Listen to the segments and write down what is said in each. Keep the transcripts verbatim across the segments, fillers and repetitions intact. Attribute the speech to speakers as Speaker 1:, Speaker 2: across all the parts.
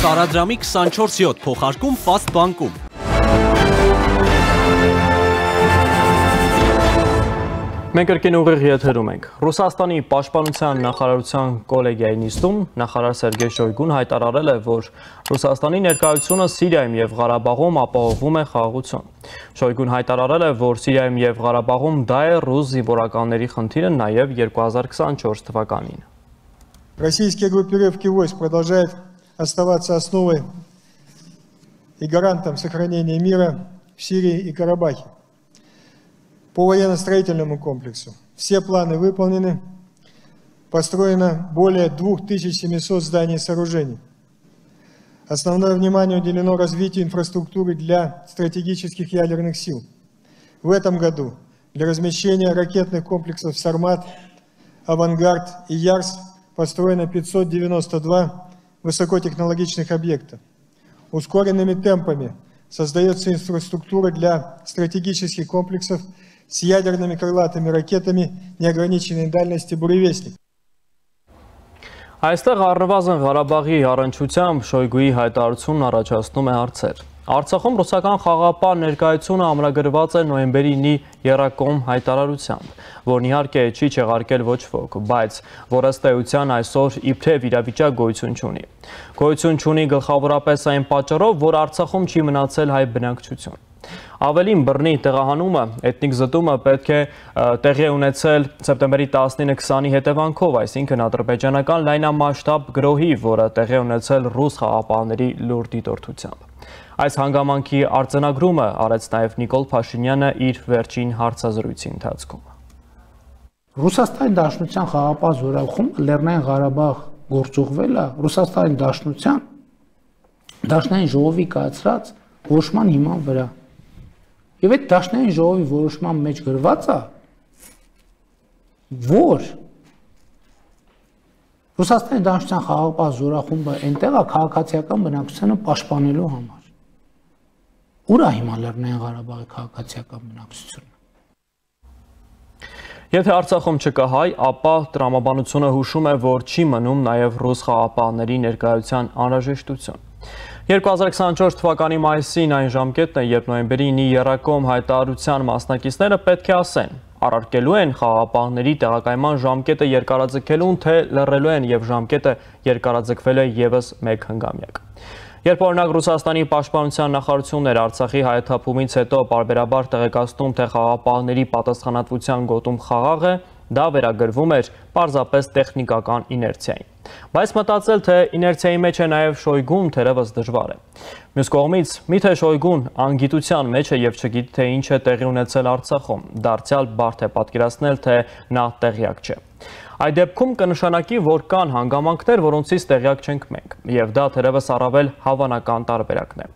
Speaker 1: Տարադրամի քսանչորս յոթ փոխարկում Fast բանկում։
Speaker 2: Մենք կրկին ուղիղ եթերում ենք։ Ռուսաստանի պաշտպանության նախարարության կոլեգիայի նիստում նախարար Սերգեյ Շոյգուն հայտարարել է, որ Ռուսաստանի ներկայությունը Սիրիայում եւ Ղարաբաղում ապահովում է խաղաղություն։ Շոյգուն հայտարարել է, որ Սիրիայում եւ Ղարաբաղում դա է ռուս զինվորականների խնդիրը նաեւ երկու հազար քսանչորս թվականին։
Speaker 3: Российские группировки войск продолжают оставаться основой и гарантом сохранения мира в Сирии и Карабахе. По военно-строительному комплексу все планы выполнены, построено более двух тысяч семисот зданий и сооружений. Основное внимание уделено развитию инфраструктуры для стратегических ядерных сил. В этом году для размещения ракетных комплексов «Сармат», «Авангард» и «Ярс» построено пятьсот девяносто два высокотехнологичных объекта. Ускоренными темпами создается инфраструктура для стратегических комплексов с ядерными крылатыми ракетами неограниченной дальности «Буревестник».
Speaker 2: Այստեղ առնվազն Ղարաբաղի առնչությամբ Շոյգուի հայտարարությունն առաջացնում է հարցեր։ Արցախում ռուսական խաղապահ ներկայությունը ամրագրված է նոյեմբերի ինի եռակողմ հայտարարությամբ, որն իհարկե չի չեղարկել ոչ ոք, բայց որ ըստ էության այսօր իբրև իրավիճակ գոյություն չունի։ Գոյություն չունի գլխավորապես այն պատճառով, որ Արցախում չի մնացել հայ բնակչություն։ Ավելին բռնի տեղահանումը, էթնիկ զտումը պետք է տեղի ունեցել սեպտեմբերի տասնինը քսանի հետևանքով, այսինքն ադրբեջանական լայնամասշտաբ գրոհի, որը տեղի ունեցել ռուս խաղապահների լուրջ դիտորդությամբ։ Այս հանգամանքի արձանագրումը արեց նաև Նիկոլ Փաշինյանը իր վերջին հարցազրույցի ընթացքում։
Speaker 4: Ռուսաստանի Դաշնության խաղապահ զորախումբը Լեռնային Ղարաբաղ գործուղվել է Ռուսաստանի Դաշնության Դաշնային ժողովի կայացրած որոշման հիման վրա։ Եվ այդ Դաշնային ժողովի որոշման մեջ գրված է, որ Ռուսաստանի Դաշնության խաղապահ զորախումբը այնտեղ է քաղաքացիական բնակչությանը պաշտպանելու համար։ Ուր է հիմա Լեռնային Ղարաբաղի քաղաքացիական բնակչությունը։
Speaker 2: Եթե Արցախում չկա հայ, ապա տրամաբանությունը հուշում է, որ չի մնում նաև ռուս խաղապահների ներկայության անհրաժեշտություն։ երկու հազար քսանչորս թվականի մայիսին այն ժամկետն է, երբ նոյեմբերի ինի եռակողմ հայտարարության մասնակիցները պետք է ասեն, առարկելու են խաղապահների տեղակայման ժամկետը երկարաձգելուն, թե լռելու են եւ ժամկետը երկարաձգվել է եւս մեկ հնգամյակ։ Երբ օրինակ Ռուսաստանի պաշտպանության նախարարությունն Արցախի հայաթափումից հետո պարբերաբար տեղեկացնում, թե խաղապահների պատասխանատվության գոտում խաղաղ է, դա վերագրվում էր պարզապես տեխնիկական իներցիային։ Բայց մտածել, թե իներցիայի մեջ է նաև Շոյգուն, թերևս դժվար է։ Մյուս կողմից, միթե Շոյգուն անգիտության մեջ է եւ չգիտի, թե ինչ է տեղի ունեցել Արցախում, դարձյալ բարդ է պատկերացնել, թե նա տեղյակ չէ։ Այդ դեպքում կնշանակի, որ կան հանգամանքներ, որոնցից տեղյակ չենք մենք, եւ դա թերևս առավել հավանական տարբերակն է։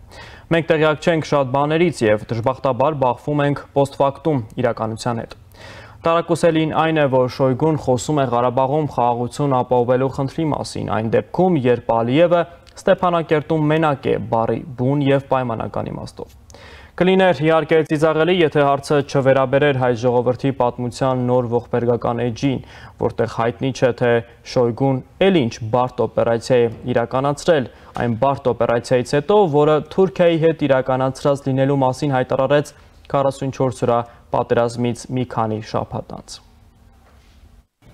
Speaker 2: Մենք տեղյակ չենք շատ բաներից եւ դժբախտաբար բախվում ենք պոստֆակտում իրականության հետ։ Տարակուսելին այն է, որ Շոյգուն խոսում է Ղարաբաղում խաղաղություն ապահովելու խնդրի մասին, այն դեպքում, երբ Ալիևը Ստեփանակերտում մենակ է բառի բուն եւ պայմանական իմաստով։ Կլիներ իհարկե ծիծաղելի, եթե հարցը չվերաբերեր հայ ժողովրդի պատմության նոր ողբերգական էջին, որտեղ հայտնի չէ, թե Շոյգուն էլ ինչ բարդ օպերացիա է իրականացրել, այն բարդ օպերացիայից հետո, որը Թուրքիայի հետ իրականացրած լինելու մասին հայտարարեց քառասունչորս օրա պատերազմից մի քանի շաբաթ անց։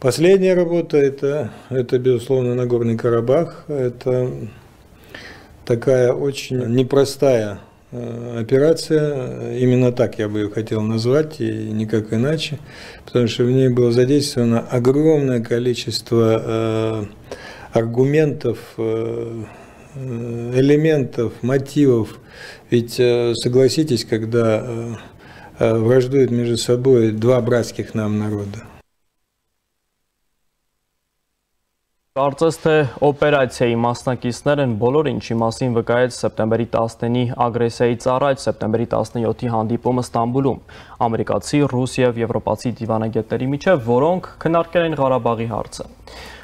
Speaker 3: Последняя работа это, это безусловно Нагорный Карабах. Это такая очень непростая операция, именно так я бы ее хотел назвать, и никак иначе, потому что в ней было задействовано огромное количество э, аргументов, э, элементов, мотивов. Ведь э, согласитесь, когда э, враждуют между собой два братских нам народа.
Speaker 2: Կարծես թե օպերացիայի մասնակիցներ են բոլոր ինչի մասին վկայեց սեպտեմբերի տասնինի ագրեսիայից առաջ սեպտեմբերի տասնյոթի հանդիպումը Ստամբուլում ամերիկացի, ռուս եւ եվրոպացի դիվանագետների միջև, որոնք քննարկել են Ղարաբաղի հարցը։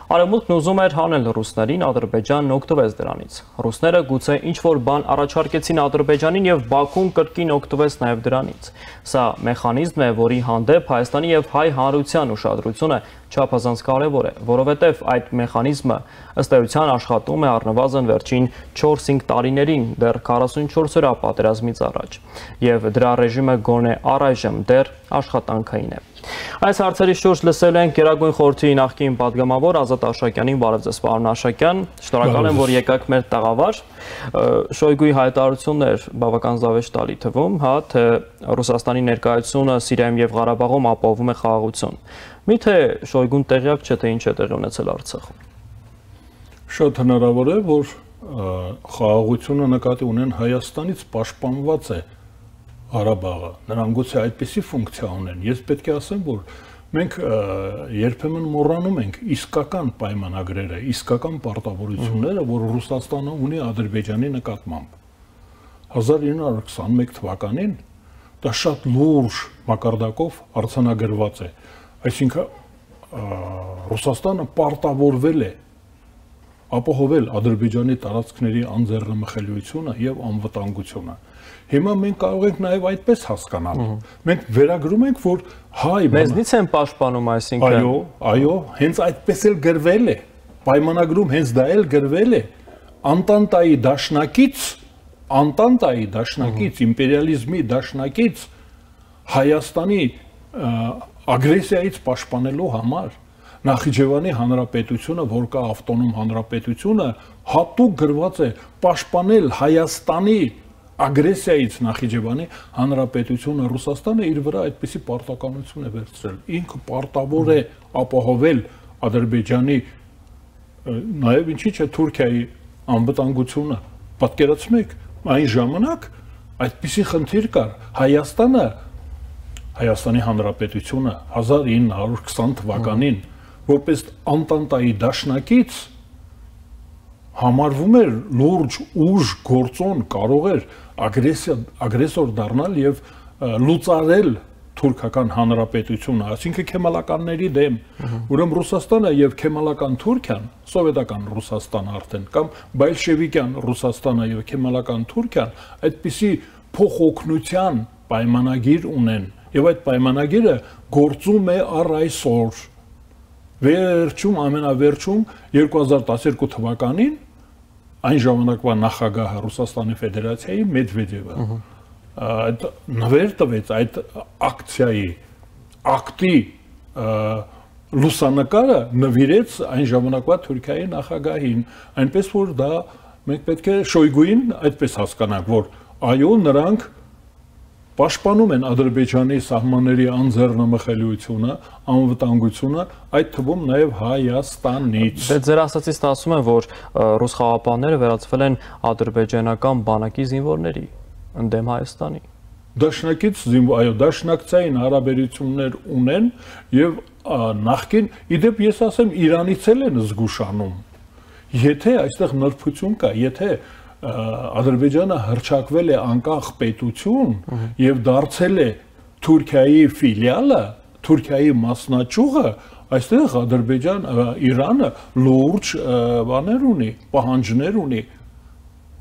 Speaker 2: Արևմուտքն ուզում էր հանել ռուսներին, Ադրբեջանն օգտվեց դրանից։ Ռուսները գուցե ինչ-որ բան առաջարկեցին Ադրբեջանին եւ Բաքուն կրկին օգտվեց նաեւ դրանից։ Սա մեխանիզմ է, որի հանդեպ Հայաստանի եւ հայ հանրության ուշադրությունը չափազանց կարևոր է, որովհետև այդ մեխանիզմը ըստ էության աշխատում է առնվազն վերջին չորս-հինգ տարիներին, դեռ քառասունչորս օրյա պատերազմից առաջ, եւ դրա ռեժիմը գոնե առայժմ դեռ աշխատանքային է։ Այս հարցերի շուրջ լսել ենք Գերագույն խորհրդի նախկին падգամավոր Ազատ Աշակյանին, բարև ձեզ պարոն Աշակյան, շնորհակալ եմ, որ եկաք մեր տաղավար։ Շոյգուի հայտարարությունն էր բավական զավեշտալի թվում, հա, թե Ռուսաստանի ներկայությունը Սիրիայում եւ Ղարաբաղում ապահովում է խաղաղություն։ Միթե Շոյգուն տեղյակ չէ, թե ինչ է տեղի ունեցել Արցախում։
Speaker 5: Շատ հնարավոր է, որ խաղաղությունը նկատի ունեն Հայաստանից պաշտպանված է Ղարաբաղը, նրանք գուցե այդպիսի ֆունկցիա ունեն։ Ես պետք է ասեմ, որ մենք երբեմն մոռանում ենք իսկական պայմանագրերը, իսկական պարտավորությունները, որ Ռուսաստանը ունի Ադրբեջանի նկատմամբ։ հազար ինը հարյուր քսանմեկ թվականին դա շատ լուրջ մակարդակով արձանագրված է։ Այսինքն Ռուսաստանը պարտավորվել է ապահովել Ադրբեջանի տարածքների անձեռնմխելիությունը եւ անվտանգությունը։ Հիմա մենք կարող ենք նաեւ այդպես հասկանալ։ Մենք վերագրում ենք, որ հայ
Speaker 2: մեզնից են պաշտպանում, այսինքն
Speaker 5: այո, այո, հենց այդպես էլ գրվել է։ Պայմանագրում հենց դա էլ գրվել է։ Անտանտայի դաշնակից, Անտանտայի դաշնակից, իմպերիալիզմի դաշնակից Հայաստանի ագրեսիայից պաշտպանելու համար Նախիջևանի հանրապետությունը, որ կա ավտոնոմ հանրապետությունը, հատուկ գրված է պաշտպանել Հայաստանի ագրեսիայից Նախիջևանի հանրապետությունը։ Ռուսաստանը իր վրա այդպիսի պարտականություն է վերցրել։ Ինքը պարտավոր է ապահովել Ադրբեջանի, նաև ինչի՞ չէ Թուրքիայի անվտանգությունը։ Պատկերացնեք, այն ժամանակ այդպիսի խնդիր կար։ Հայաստանը, Հայաստանի հանրապետությունը հազար ինը հարյուր քսան թվականին որպես Անտանտայի դաշնակից համարվում էր լուրջ ուժ գործոն, կարող էր ագրեսիա ագրեսոր դառնալ եւ լուծարել թուրքական հանրապետությունը, այսինքն քեմալականների դեմ։ Ուրեմն Ռուսաստանը եւ քեմալական Թուրքիան, սովետական Ռուսաստանը արդեն կամ բոլշևիկյան Ռուսաստանը եւ քեմալական Թուրքիան այդպիսի փոխօգնության պայմանագիր ունեն եւ այդ պայմանագիրը գործում է առ այսօր։ Վերջում, ամենավերջում երկու հազար տասներկու թվականին այն ժամանակվա նախագահը Ռուսաստանի Ֆեդերացիայի Մեդվեդևը այդ նվեր տվեց այդ ակցիայի ակտի լուսանկարը նվիրեց այն ժամանակվա Թուրքիայի նախագահին, այնպես որ դա մենք պետք է Շոյգուին այդպես հասկանանք, որ այո, նրանք պաշտպանում են Ադրբեջանի սահմանների անձեռնմխելիությունը, անվտանգությունը, այդ թվում նաև Հայաստանից։
Speaker 2: Դե ձեր ասածից ասում են, որ ռուս խաղաղապահները վերածվել են ադրբեջանական բանակի զինվորների ընդդեմ Հայաստանի։
Speaker 5: Դաշնակից այո, դաշնակցային հարաբերություններ ունեն եւ նախկին, իդեպ ես ասեմ, Իրանից էլ են զգուշանում։ Եթե այստեղ նրբություն կա, եթե Ադրբեջանը հռչակվել է անկախ պետություն եւ դարձել է Թուրքիայի ֆիլիալը, Թուրքիայի մասնաճյուղը, այստեղ Ադրբեջան, Իրանը լուրջ բաներ ունի, պահանջներ ունի,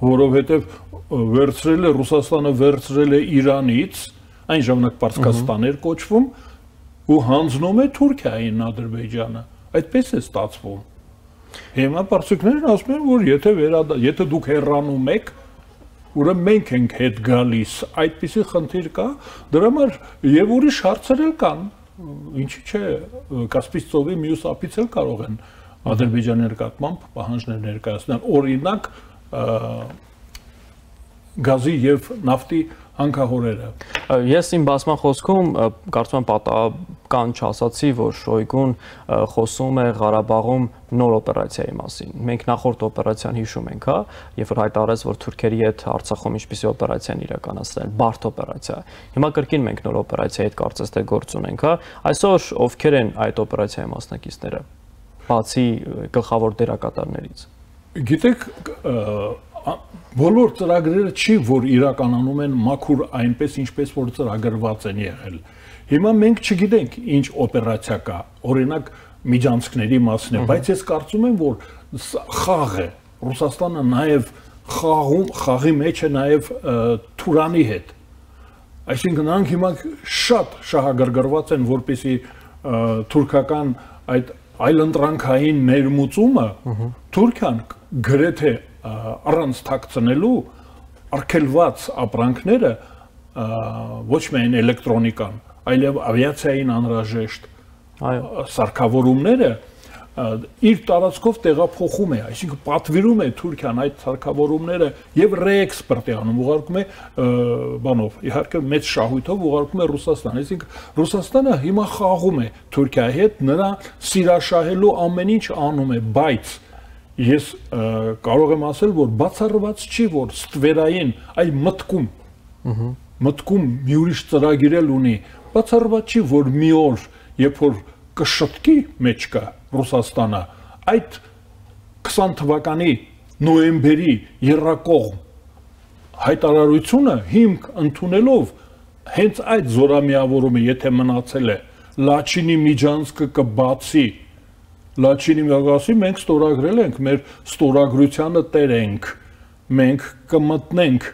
Speaker 5: որովհետեւ վերցրել է Ռուսաստանը վերցրել է Իրանից, այն ժամանակ Պարսկաստան էր կոչվում, ու հանձնում է Թուրքիային Ադրբեջանը։ Այդպես է ստացվում։ Հիմա պարսիկներն ասում են, որ եթե վերադա, եթե դուք հեռանում եք, ուրեմն մենք ենք հետ գալիս, այդպիսի խնդիր կա, դրա համար եւ ուրիշ հարցեր էլ կան, ինչի՞ չէ, Կասպից ծովի մյուս ափից էլ կարող են Ադրբեջանի նկատմամբ պահանջներ ներկայացնել, օրինակ գազի եւ նավթի հանքահորերը։
Speaker 2: Ես իմ բացման խոսքում կարծում եմ պատահական չասացի, որ Շոյգուն խոսում է Ղարաբաղում նոր օպերացիայի մասին։ Մենք նախորդ օպերացիան հիշում ենք, հա, երբ որ հայտարարեց, որ թուրքերի հետ Արցախում ինչպիսի օպերացիա են իրականացրել, բարդ օպերացիա։ Հիմա կրկին մենք նոր օպերացիայի հետ կարծես թե գործ ունենք, հա։ Այսօր ովքեր են այդ օպերացիայի մասնակիցները, բացի գլխավոր դերակատարներից։
Speaker 5: Գիտեք, բոլոր ծրագրերը չի, որ իրականանում են մաքուր այնպես, ինչպես որ ծրագրված են եղել։ Հիմա մենք չգիտենք ինչ օպերացիա կա։ Օրինակ միջանցքների մասին է, բայց ես կարծում եմ, որ խաղ է, Ռուսաստանը նաև խաղում, խաղի մեջ է նաև Թուրանի հետ։ Այսինքն նրանք հիմա շատ շահագրգռված են, որպեսզի թուրքական այդ այլընտրանքային ներմուծումը Թուրքիան գրեթե առանց թաքցնելու արգելված ապրանքները ոչ միայն էլեկտրոնիկան, այլև ավիացիային անհրաժեշտ սարքավորումները իր տարածքով տեղափոխում է, այսինքն պատվիրում է Թուրքիան այդ սարքավորումները եւ ռեէքսպորտ է անում, ուղարկում է բանով, իհարկե մեծ շահույթով ուղարկում է Ռուսաստան, այսինքն Ռուսաստանը հիմա խաղում է Թուրքիայի հետ, նրա սիրաշահելու ամեն ինչ անում է, բայց ես կարող եմ ասել, որ բացառված չի, որ ստվերային, այլ մտքում, մտքում մի ուրիշ ծրագիր ունի, բացառված չի, որ մի օր, երբ որ կշտկի մեջ կա Ռուսաստանը, այդ քսան թվականի նոյեմբերի եռակողմ հայտարարությունը հիմք ընդունելով հենց այդ զորամիավորումը, եթե մնացել է, Լաչինի միջանցքը կբացի, Լաչինի միջանցքը մենք ստորագրել ենք, մեր ստորագրությանը տեր ենք, մենք կմտնենք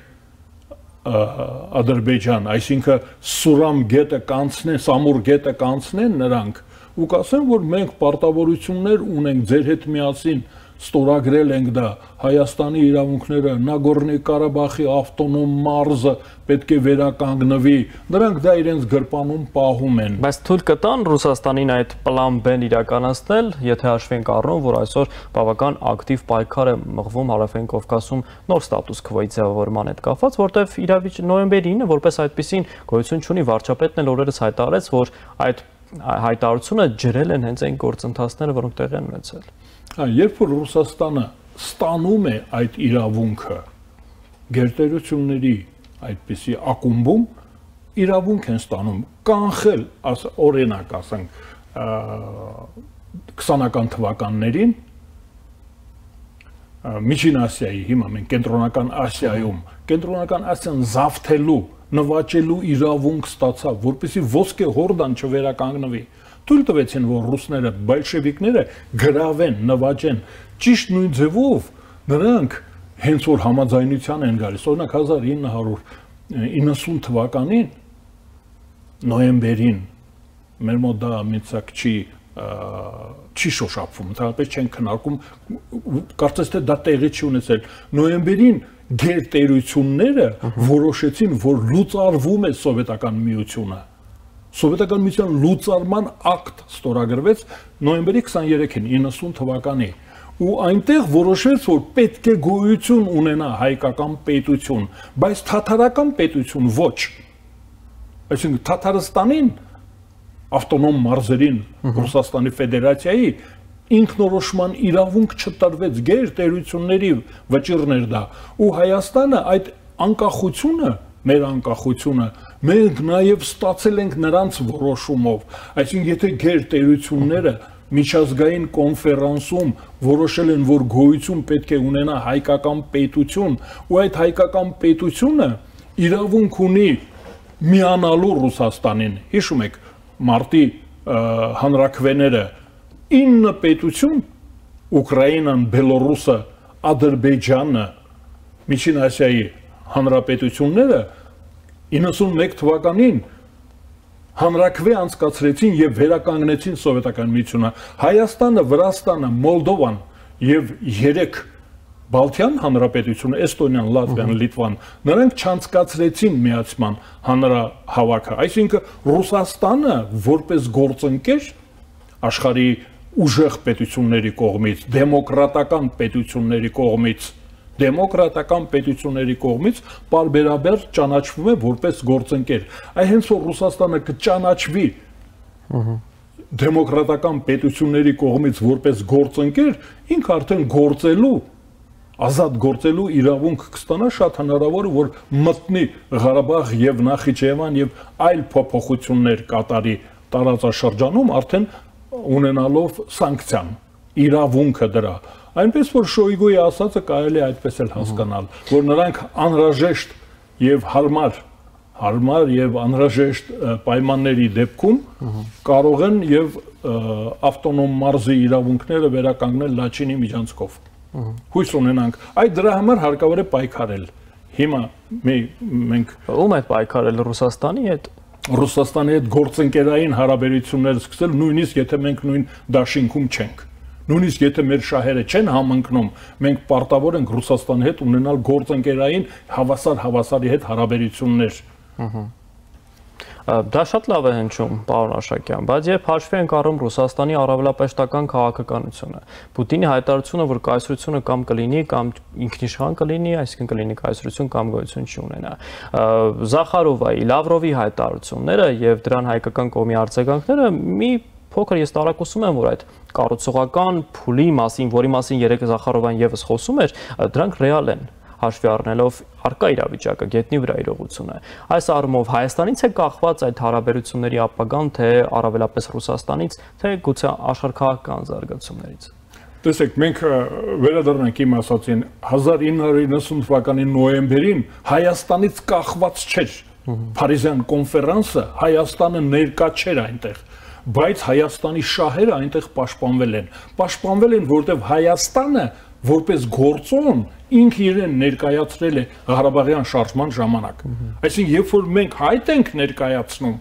Speaker 5: Ադրբեջան, այսինքն Սուրամ գետը կանցնեն, Սամուր գետը կանցնեն նրանք, ու կասեմ, որ մենք պարտավորություններ ունենք ձեր հետ միասին ստորագրել ենք դա, Հայաստանի իրավունքները, Նագորնի Ղարաբաղի ավտոնոմ մարզը պետք է վերականգնվի, նրանք դա իրենց գրպանում պահում են։
Speaker 2: Բայց թույլ կտան Ռուսաստանին այդ պլան B-ն իրականացնել, եթե հաշվի ենք առնում, որ այսօր բավական ակտիվ պայքար է մղվում Հարավային Կովկասում նոր ստատուս քվոյի ձևավորման հետ կապված, որտեղ իրավիճ նոյեմբերի ինը որպես այդպեսին գոյություն չունի, վարչապետն էլ օրերս հայտարարեց, որ այդ հայտարարությունը ջրել են հենց այն գործընթացները, որոնք տեղի են ունեցել։
Speaker 5: Երբ որ Ռուսաստանը ստանում է այդ իրավունքը գերտերությունների այդպիսի ակումբում, իրավունք են ստանում կանխել, օրինակ ասենք, քսանական թվականներին Միջին Ասիայի, հիմա մենք կենտրոնական Ասիայում, կենտրոնական Ասիան զավթելու, նվաճելու իրավունք ստացավ, որպեսզի ոսկե հորդան չվերականգնվի։ Թույլ տվեցին, որ ռուսները, բոլշևիկները գրավեն, նվաճեն, ճիշտ նույն ձևով նրանք հենց որ համաձայնության են գալիս, օրինակ հազար ինը հարյուր իննսուն թվականին նոյեմբերին մեր մոտ դա մեծակ չի չի շոշափվում, ընդհանրապես չեն քննարկում, կարծես թե դա տեղի չի ունեցել։ Նոյեմբերին գերտերությունները որոշեցին, որ լուծարվում է սովետական միությունը։ Սովետական միության լուծարման ակտ ստորագրվեց նոյեմբերի քսաներեքին իննսուն թվականի, ու այնտեղ որոշվեց, որ պետք է գոյություն ունենա հայկական պետություն, բայց թաթարական պետություն ոչ։ Այսինքն Թաթարստանին, ավտոնոմ մարզերին, Ռուսաստանի Ֆեդերացիայի ինքնորոշման իրավունք չտրվեց, գերտերությունների վճիռներ դա, ու Հայաստանը այդ անկախությունը, մեր անկախությունը, մենք նաև ստացել ենք նրանց որոշումով, այսինքն եթե գերտերությունները միջազգային կոնֆերանսում որոշել են, որ գոյություն պետք է ունենա հայկական պետություն, ու այդ հայկական պետությունը իրավունք ունի միանալու Ռուսաստանին, հիշում եք, մարտի հանրաքվեները ինը պետություն, Ուկրաինան, Բելորուսը, Ադրբեջանը, Միջին Ասիայի հանրապետությունները իննսուն մեկ թվականին հանրաքվե անցկացրեցին եւ վերականգնեցին սովետական միությունը։ Հայաստանը, Վրաստանը, Մոլդովան եւ երեք Բալթյան հանրապետությունը, Էստոնիան, Լատվիան, Լիտվան, նրանք չանցկացրեցին միացման հանրահավաքը։ Այսինքն Ռուսաստանը որպես գործընկեր աշխարհի ուժեղ պետությունների կողմից, դեմոկրատական պետությունների կողմից, դեմոկրատական պետությունների կողմից պարբերաբար ճանաչվում է որպես գործընկեր։ Այ հենց որ Ռուսաստանը կճանաչվի դեմոկրատական պետությունների կողմից որպես գործընկեր, ինքը արդեն գործելու, ազատ գործելու իրավունք կստանա, շատ հնարավոր է, որ մտնի Ղարաբաղ եւ Նախիջևան եւ այլ փոփոխություններ կատարի տարածաշրջանում, արդեն ունենալով սանկցիան, իրավունքը դրա։ Այնպես որ Շոյգուի ասածը կարելի է այդպես էլ հասկանալ, որ նրանք անհրաժեշտ եւ հարմար հարմար եւ անհրաժեշտ պայմանների դեպքում կարող են եւ ավտոնոմ մարզի իրավունքները վերականգնել Լաչինի միջանցքով։ Հույս ունենանք, այդ դրա համար հարկավոր է պայքարել։ Հիմա մենք
Speaker 2: ում հետ պայքարել Ռուսաստանի հետ
Speaker 5: Ռուսաստանի հետ գործընկերային հարաբերություններ սկսել, նույնիսկ եթե մենք նույն դաշինքում չենք։ Նույնիսկ եթե մեր շահերը չեն համընկնում, մենք պարտավոր ենք Ռուսաստանի հետ ունենալ գործընկերային հավասար հավասարի հետ հարաբերություններ։
Speaker 2: Դա շատ լավ է հնչում, պարոն Աշակյան, բայց երբ հաշվի ենք առնում Ռուսաստանի առավելապաշտական քաղաքականությունը, Պուտինի հայտարարությունը, որ կայսրությունը կամ կլինի, կամ ինքնիշխան կլինի, այսինքն կլինի կայսրություն կամ գոյություն չունենա, Զախարովայի, Լավրովի հայտարարությունները եւ դրան հայկական կողմի արձագանքները մի փոքր ես տարակուսում եմ, որ այդ կառուցողական փուլի մասին, որի մասին երեք Զախարովան եւս խոսում էր, դրանք ռեալ են, հաշվի առնելով առկա իրավիճակը, գետնի վրա իրողությունը։ Այս առումով Հայաստանից է կախված այդ հարաբերությունների ապագան, թե առավելապես Ռուսաստանից, թե գուցե աշխարհքաղաքական զարգացումներից։
Speaker 5: Տեսեք, մենք վերադառնանք իմ ասածին, հազար ինը հարյուր իննսուն թվականի նոյեմբերին Հայաստանից կախված չէր։ Փարիզյան կոնֆերանսը Հայաստանը ներկա չէր այնտեղ, բայց Հայաստանի շահերը այնտեղ պաշտպանվել են։ Պաշտպանվել են, որտեղ Հայաստանը որպես գործոն ինքը իրեն ներկայացրել է Ղարաբաղյան շարժման ժամանակ։ Այսինքն, երբ որ մենք հայտ ենք ներկայացնում,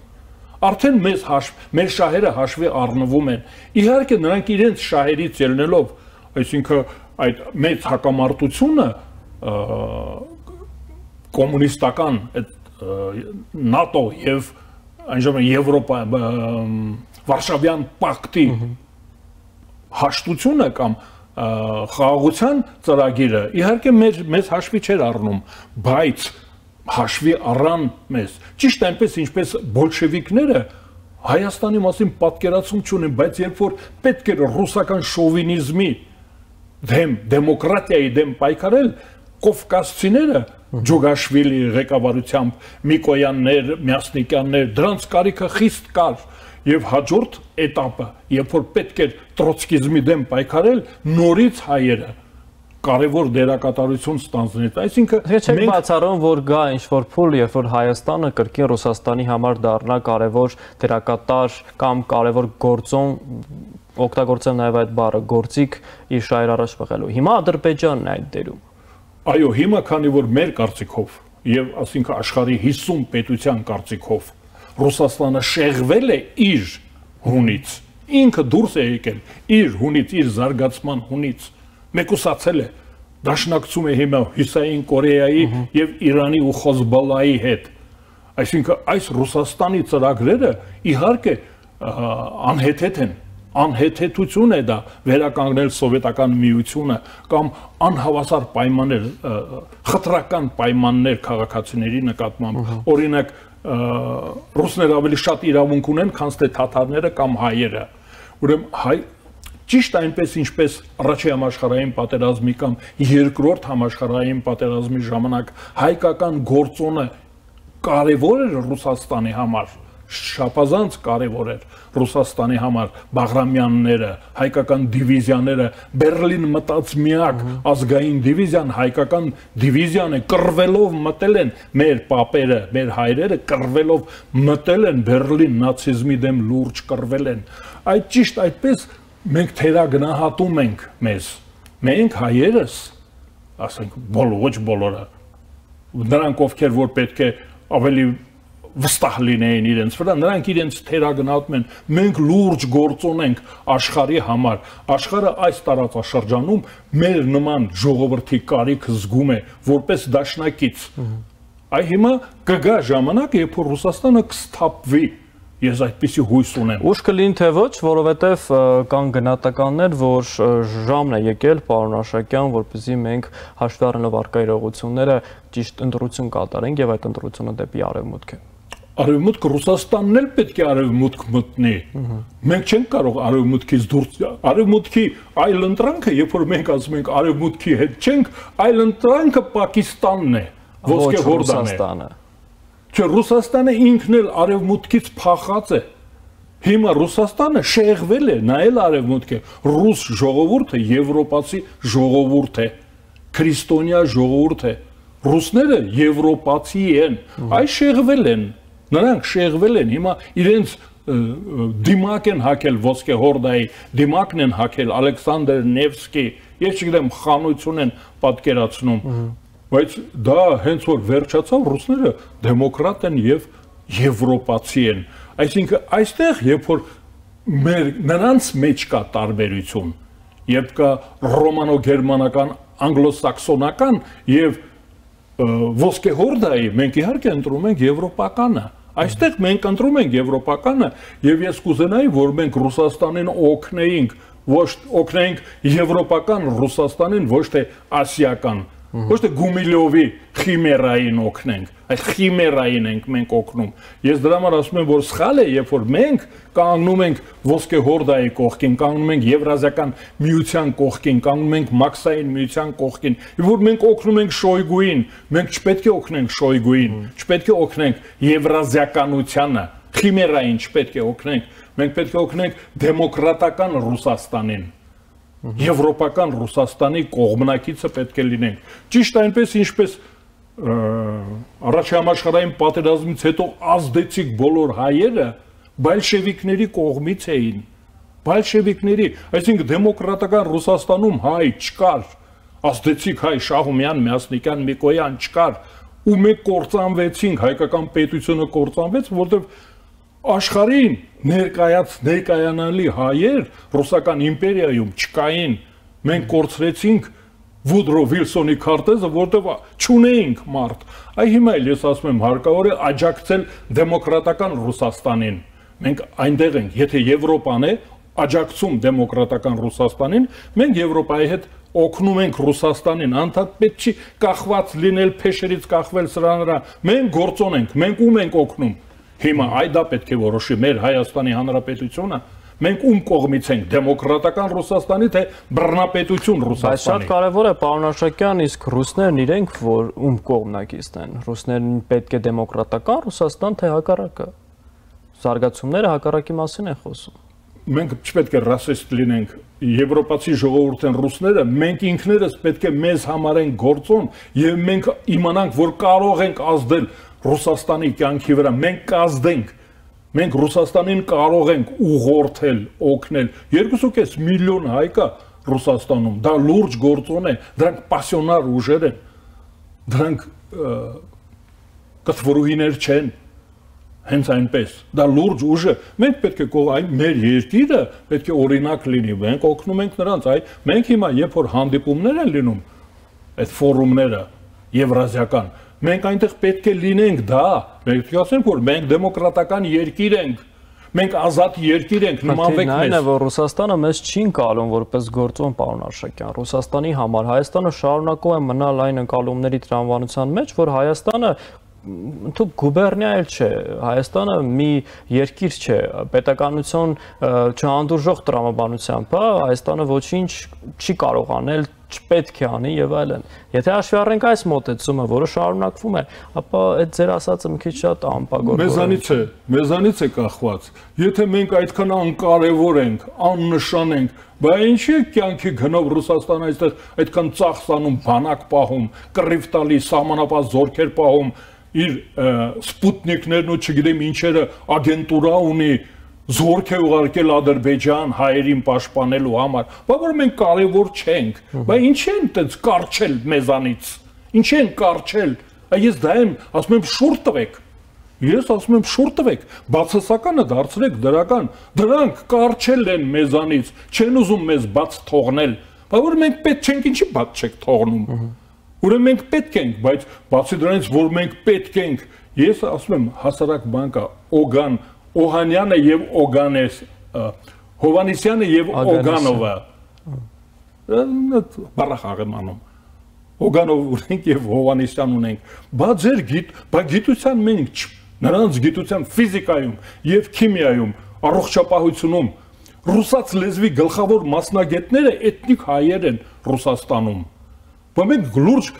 Speaker 5: արդեն մեզ հաշվ, մեր շահերը հաշվի առնվում են։ Իհարկե, նրանք իրենց շահերից ելնելով, այսինքն այդ մեծ հակամարտությունը կոմունիստական ՆԱՏՕ եւ այնժամ Եվրոպա Վարշավյան պակտի հաշտությունը կամ խաղաղության ծրագիրը իհարկե մեզ հաշվի չէր առնում, բայց հաշվի առան մեզ։ Ճիշտ այնպես ինչպես բոլշևիկները Հայաստանի մասին պատկերացում չունեն, բայց երբ որ պետք էր ռուսական շովինիզմի դեմ, դեմոկրատիայի դեմ պայքարել, կովկասցիները Ջուգաշվիլի ղեկավարությամբ Միկոյաններ, Մյասնիկյաններ, դրանց կարիքը խիստ կար։ Եվ հաջորդ էտապը, երբ որ պետք էր տրոցկիզմի դեմ պայքարել, նորից հայերը կարևոր դերակատարություն ստանձնեց։ Այսինքն
Speaker 2: չեք բացառում, որ գա ինչ-որ փուլ, երբ որ Հայաստանը կրկին Ռուսաստանի համար դառնա կարևոր դերակատար կամ կարևոր գործոն, օգտագործեմ նաև այդ բառը, գործիք իր շահեր առաջ բխելու։ Հիմա Ադրբեջանն է այդ դերում։
Speaker 5: Այո, հիմա քանի որ մեր կարծիքով եւ ասինքն աշխարհի հիսուն պետության կարծիքով Ռուսաստանը շեղվել է իր հունից, ինքը դուրս է եկել իր հունից, իր զարգացման հունից, մեկուսացել է, դաշնակցում է հիմա Հյուսային Կորեայի եւ Իրանի ու Խոզբալայի հետ։ Այսինքն այս Ռուսաստանի ծրագրերը իհարկե անհեթեթ են, անհեթեթություն է դա վերականգնել սովետական միությունը կամ անհավասար պայմաններ, խտրական պայմաններ քաղաքացիների նկատմամբ, օրինակ ռուսները ավելի շատ իրավունք ունեն, քան թե թաթարները կամ հայերը։ Ուրեմն հայ ճիշտ այնպես ինչպես առաջի համաշխարհային պատերազմի կամ երկրորդ համաշխարհային պատերազմի ժամանակ հայկական գործոնը կարևոր էր Ռուսաստանի համար, շապազանց կարևոր էր Ռուսաստանի համար, Բաղրամյանները, հայկական դիվիզիաները, Բերլին մտած միակ ազգային դիվիզիան, հայկական դիվիզիան է, կռվելով մտել են մեր պապերը, մեր հայրերը կռվելով մտել են Բերլին, նացիզմի դեմ լուրջ կռվել են։ Այդ ճիշտ այդպես մենք թերագնահատում ենք մեզ։ Մենք հայերս, ասենք, բոլոր ոչ բոլորը, նրանք ովքեր որ պետք է ավելի վստահ լինեին իրենց վրա, նրանք իրենց թերագնահատում են, մենք լուրջ գործոն ենք աշխարհի համար, աշխարհը այս տարածաշրջանում մեր նման ժողովրդի կարիք զգում է որպես դաշնակից։ Այ հիմա կգա ժամանակ, երբ որ Ռուսաստանը կսթափվի, ես այդպիսի հույս ունեմ։
Speaker 2: Ուշ կլինի թե ոչ, որովհետև կան գնահատականներ, որ ժամն է եկել, պարոն Աշակյան, որպեսզի մենք հաշվի առնելով առկա իրողությունները ճիշտ ընտրություն կատարենք եւ այդ ընտրությունը դեպի արևմուտք է։
Speaker 5: Արևմուտքը Ռուսաստանն էլ պետք է արևմուտք մտնի։ Մենք չենք կարող արևմուտքից դուրս, արևմուտքի այլ ընտրանքը, երբ որ մենք ասում ենք արևմուտքի հետ չենք, այլ ընտրանքը Պակիստանն է, ոսկե Հորդանը։ Չէ, Ռուսաստանը ինքն էլ արևմուտքից փախած է։ Հիմա Ռուսաստանը շեղվել է, նայել արևմուտք է, ռուս ժողովուրդը եվրոպացի ժողովուրդ է, քրիստոնյա ժողովուրդ է, Ռուսները եվրոպացի են, այս շեղվել են, նրանք շեղվել են, հիմա իրենց դիմակ են հակել ոսկե հորդայի, դիմակն են հակել Ալեքսանդր Նևսկի, ես չգիտեմ խանություն են պատկերացնում, բայց դա հենց որ վերջացավ, ռուսները դեմոկրատ են եւ եվրոպացի են, այսինքն այստեղ երբ որ մեր նրանց մեջ կա տարբերություն, երբ կա ռոմանո-գերմանական, անգլոսաքսոնական եւ ոսկե հորդայի, մենք իհարկե ընտրում ենք եվրոպականը, այստեղ մենք ընտրում ենք եվրոպականը եւ ես կուզենայի, որ մենք Ռուսաստանին օգնեինք, ոչ օգնեինք եվրոպական Ռուսաստանին, ոչ թե ասիական, ոչ թե Գումիլովի խիմերային օգնենք, այդ խիմերային ենք մենք օգնում։ Ես դրա համար ասում եմ, որ սխալ է, երբ որ մենք կանգնում ենք ոսկե հորդայի կողքին, կանգնում ենք Եվրազիական միության կողքին, կանգնում ենք Մաքսային միության կողքին, եւ որ մենք օգնում ենք Շոյգուին, մենք չպետք է օգնենք Շոյգուին, չպետք է օգնենք Եվրազիականությանը, խիմերային չպետք է օգնենք, մենք պետք է օգնենք դեմոկրատական Ռուսաստանին։ Եվրոպական Ռուսաստանի կողմնակիցը պետք է լինենք։ Ճիշտ այնպես, ինչպես առաջին համաշխարհային պատերազմից հետո ազդեցիկ բոլոր հայերը բոլշևիկների կողմից էին։ Բոլշևիկների, այսինքն դեմոկրատական Ռուսաստանում հայ չկար, ազդեցիկ հայ Շահումյան, Մյասնիկյան, Միկոյան չկար, ու մենք կործանվեցինք, հայկական պետությունը կործանվեց, որտեղ աշխարհին ներկայաց ներկայանալի հայեր ռուսական իմպերիայում չկային, մենք կորցրեցինք Վուդրո Վիլսոնի քարտեզը, որտեղ չունեինք մարդ։ Այ հիմա էլ ես ասում եմ, հարկավոր է աջակցել դեմոկրատական Ռուսաստանին։ Մենք այնտեղ ենք, եթե Եվրոպան է աջակցում դեմոկրատական Ռուսաստանին, մենք Եվրոպայի հետ օգնում ենք Ռուսաստանին, անդադ պետք չի կախված լինել, փեշերից կախվել սրա նրա։ Մենք գործոն ենք, մենք ում ենք օգնում։ Հիմա այ դա պետք է որոշի մեր Հայաստանի Հանրապետությունը, մենք ում կողմից ենք, դեմոկրատական Ռուսաստանի, թե բռնապետություն Ռուսաստանի։
Speaker 2: Բայց շատ կարևոր է, պարոն Աշակյան, իսկ ռուսներն իրենք որ ում կողմնակիցն են, ռուսներն պետք է դեմոկրատական Ռուսաստան, թե հակառակը։ Զարգացումները հակառակի մասին են խոսում։
Speaker 5: Մենք չպետք է ռասիստ լինենք, եվրոպացի ժողովուրդ են ռուսները, մենք ինքներս պետք է մեզ համարենք գործոն եւ մենք իմանանք, որ կարող ենք ազդել Ռուսաստանի կյանքի վրա, մենք կազդենք, մենք Ռուսաստանին կարող ենք ուղղորդել, օգնել, երկուսուկես միլիոն հայ կա Ռուսաստանում, դա լուրջ գործոն է, դրանք պասիոնար ուժեր են, դրանք կթվորուհիներ չեն, հենց այնպես, դա լուրջ ուժ է, մենք պետք է կող, այն մեր երկիրը պետք է օրինակ լինի, մենք օգնում ենք նրանց, այ մենք հիմա երբ որ հանդիպումներ են լինում, այդ ֆորումները եվրազիական, մենք այնտեղ պետք է լինենք դա, մենք ասենք, որ մենք դեմոկրատական երկիր ենք, մենք ազատ երկիր ենք, նմանվեք մեզ։
Speaker 2: Այն է, որ Ռուսաստանը մեզ չի ընկալում որպես գործոն, պարոն Աշակյան, Ռուսաստանի համար Հայաստանը շարունակում է մնալ այն ընկալումների տրամաբանության մեջ, որ Հայաստանը ընդհանուր գուբերնիա էլ չէ, Հայաստանը մի երկիր չէ, պետականություն չհանդուրժող տրամաբանությամբ, Հայաստանը ոչինչ չի կարող անել, չպետք է անի եւ այլն։ Եթե հաշվի առնենք այս մոտեցումը, որը շարունակվում է, ապա այդ ձեր ասածը մի քիչ շատ անպագորգ է։
Speaker 5: Մեզանից է, մեզանից է կախված։ Եթե մենք այդքան անկարևոր ենք, աննշան ենք, բա ինչի է կյանքի գնով Ռուսաստանը այստեղ այդքան ծախսանում, բանակ պահում, կռիվ տալի, սահմանապահ զորքեր պահում, իր սպուտնիկներն ու չգիտեմ ինչերը ագենտուրա ունի, զորք է ուղարկել Ադրբեջան հայերին պաշտպանելու համար, բա որ մենք կարևոր չենք, բա ինչ են այդպես կարճել մեզանից, ինչ են կարճել, ես դա եմ ասում եմ շուռ տվեք, ես ասում եմ շուռ տվեք, բացասականը դարձրեք դրական, դրանք կարճել են մեզանից, չեն ուզում մեզ բաց թողնել, բա որ մենք պետք չենք, ինչի բաց չեք թողնում, ուրեմն մենք պետք ենք, բայց բացի դրանից, որ մենք պետք ենք, ես ասում եմ հասարակ բան կա, Օգան Օհանյանը եւ Օգանես Հովանեսյանը եւ Օգանովը բարախաղ եմ անում Օգանով ունենք եւ Հովանեսյան ունենք բա ձեր գիտ բա գիտության մենք նրանց գիտության ֆիզիկայում եւ քիմիայում առողջապահությունում ռուսաց լեզվի գլխավոր մասնագետները էթնիկ հայեր են Ռուսաստանում բա մենք լուրջ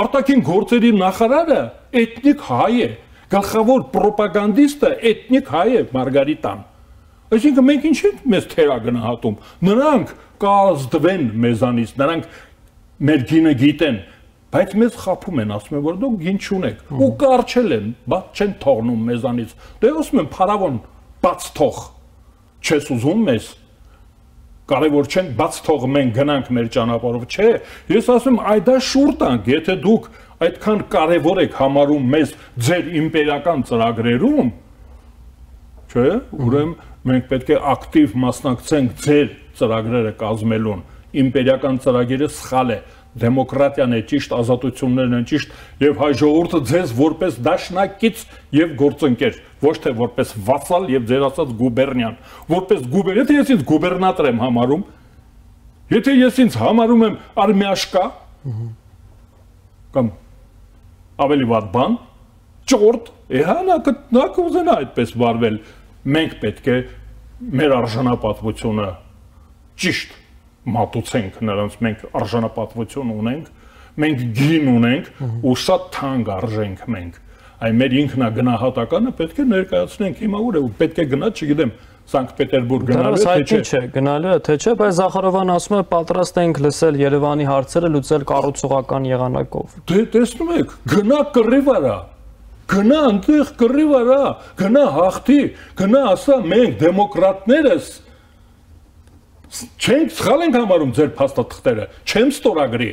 Speaker 5: արտաքին գործերի նախարարը էթնիկ հայ է գլխավոր պրոպագանդիստը էթնիկ հայ է Մարգարիտան։ Այսինքն մենք ինչ ենք մեզ թերագնահատում։ Նրանք կազդվեն մեզանից, նրանք մեր գինը գիտեն, բայց մեզ խափում են, ասում են, որ դուք գին չունեք, ու կարճել են, բաց չեն թողնում մեզանից։ Դե ասում են, փարավոն, բաց թող, չես ուզում մեզ, կարևոր չեն, բաց թող մենք գնանք մեր ճանապարհով, չէ, ես ասում եմ, այ դա շուռ տանք, եթե դուք այդքան կարևոր եք համարում մեզ ձեր իմպերիական ծրագրերում, չէ, ուրեմն մենք պետք է ակտիվ մասնակցենք ձեր ծրագրերը կազմելուն, իմպերիական ծրագիրը սխալ է, դեմոկրատիան է ճիշտ, ազատություններն են ճիշտ եւ հայ ժողովուրդը ձեզ որպես դաշնակից եւ գործընկեր, ոչ թե որպես վասալ եւ ձեր ասած գուբերնիան, որպես գուբեր, եթե ես ինձ գուբերնատոր եմ համարում, եթե ես ինձ համարում եմ արմիաշկա կամ ավելի վատ բան, ճորտ, հա նա կուզենա այդպես վարվել, մենք պետք է մեր արժանապատվությունը ճիշտ մատուցենք նրանց, մենք արժանապատվություն ունենք, մենք գին ունենք ու շատ թանկ արժենք մենք, այ մեր ինքնագնահատականը պետք է ներկայացնենք, հիմա ուր է, պետք է գնա, չգիտեմ, Սանկտ Պետերբուրգ գնալու է, թե չէ,
Speaker 2: գնալու է, թե չէ, բայց Զախարովան ասում է պատրաստ ենք լսել Երևանի հարցերը լուծել կառուցողական եղանակով։
Speaker 5: Դե տեսնում եք, գնա կռի վրա, գնա այնտեղ կռի վրա, գնա հաղթի, գնա ասա մենք դեմոկրատներս չենք սխալ ենք համարում ձեր փաստաթղթերը, չեմ ստորագրի,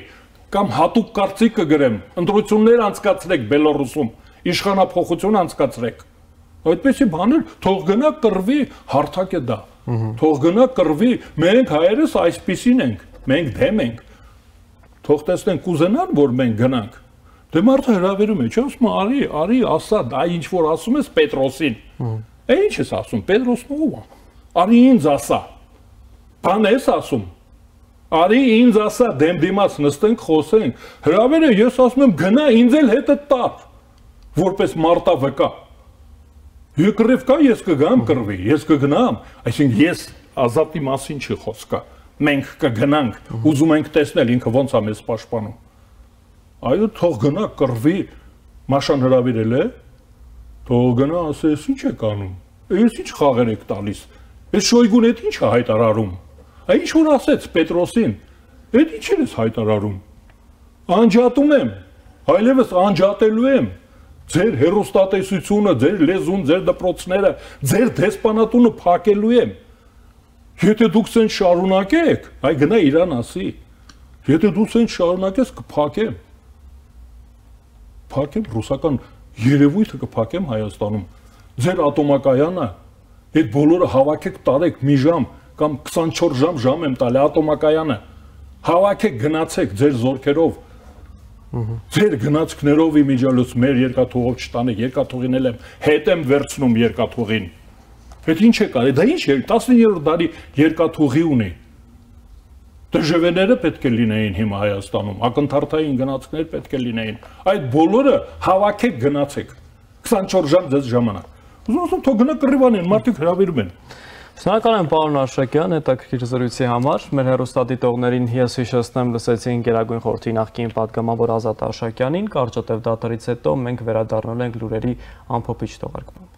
Speaker 5: կամ հատուկ կարծիք կգրեմ, ընտրություններ անցկացրեք Բելոռուսում, իշխանափոխություն անցկացրեք։ Այդպեսի բաներ, թող գնա կռվի, հարթակ է դա։ Թող գնա կռվի, մենք հայերս այսպիսին ենք, մենք դեմ ենք։ Թող տեսնենք կուզենան, որ մենք գնանք։ Դե մարդը հրավիրում է, չի ասում, արի, արի, ասա, դա ինչ որ ասում ես Պետրոսին։ Է ինչ ես ասում, Պետրոսն ով է։ Արի ինձ ասա։ Բան ես ասում։ Արի ինձ ասա, դեմ դիմաց նստենք, խոսենք։ Հրավերը ես ասում եմ, գնա ինձ էլ հետը տար, որպես մարտավկա։ Եկռև կա, ես կգամ կռվի, ես կգնամ, այսինքն ես ազատի մասին չի խոսքը, մենք կգնանք, ուզում ենք տեսնել ինքը ոնց է մեզ պաշտպանում։ Այո, թող գնա կռվի, Մաշան հրավիրել է, թող գնա ասե, ես ինչ եք անում, ես ինչ խաղեր եք տալիս, ես Շոյգուն էդ ինչ է հայտարարում, այ ինչ որ ասեց Պետրոսին, էդ ինչ ես հայտարարում, անջատում եմ, այլևս անջատելու եմ, ձեր հերոստատեսությունը, ձեր լեզուն, ձեր դպրոցները, ձեր դեսպանատունը փակելու եմ։ Եթե դուք ցեն շարունակեք, այ գնա իրան ասի։ Եթե դու ցեն շարունակես կփակեմ։ Փակեմ ռուսական երևույթը կփակեմ Հայաստանում։ Ձեր ատոմակայանը, այդ բոլորը հավաքեք տարեք մի ժամ կամ քսանչորս ժամ ժամ եմ տալի ատոմակայանը։ Հավաքեք գնացեք ձեր զորքերով։ Ձեր գնացքներով իմիջիալոց մեր երկաթուղով չտանեք, երկաթուղին էլ եմ, հետ եմ վերցնում երկաթուղին։ Այդ ինչ է կարի, դա ինչ է, տասնիններորդ դարի երկաթուղի ունի։ Դժվերները պետք է լինեին հիմա Հայաստանում, ակնթարթային գնացքներ պետք է լինեին։ Այդ բոլորը հավաքեք գնացեք, քսանչորս ժամ ձեզ ժամանակ։ Ուզում ասում, թող գնա կռիվանին, մարդիկ հրավիրում են։
Speaker 2: Շնորհակալ եմ պարոն Արշակյան, հետաքրքիր զրույցի համար։ Մեր հեռուստադիտողներին ես հիշեցնեմ, լսեցին Գերագույն խորհրդի նախկին պատգամավոր Ազատ Արշակյանին, կարճատև դադարից հետո մենք վերադառնալ ենք լուրերի ամփոփիչ թողարկման։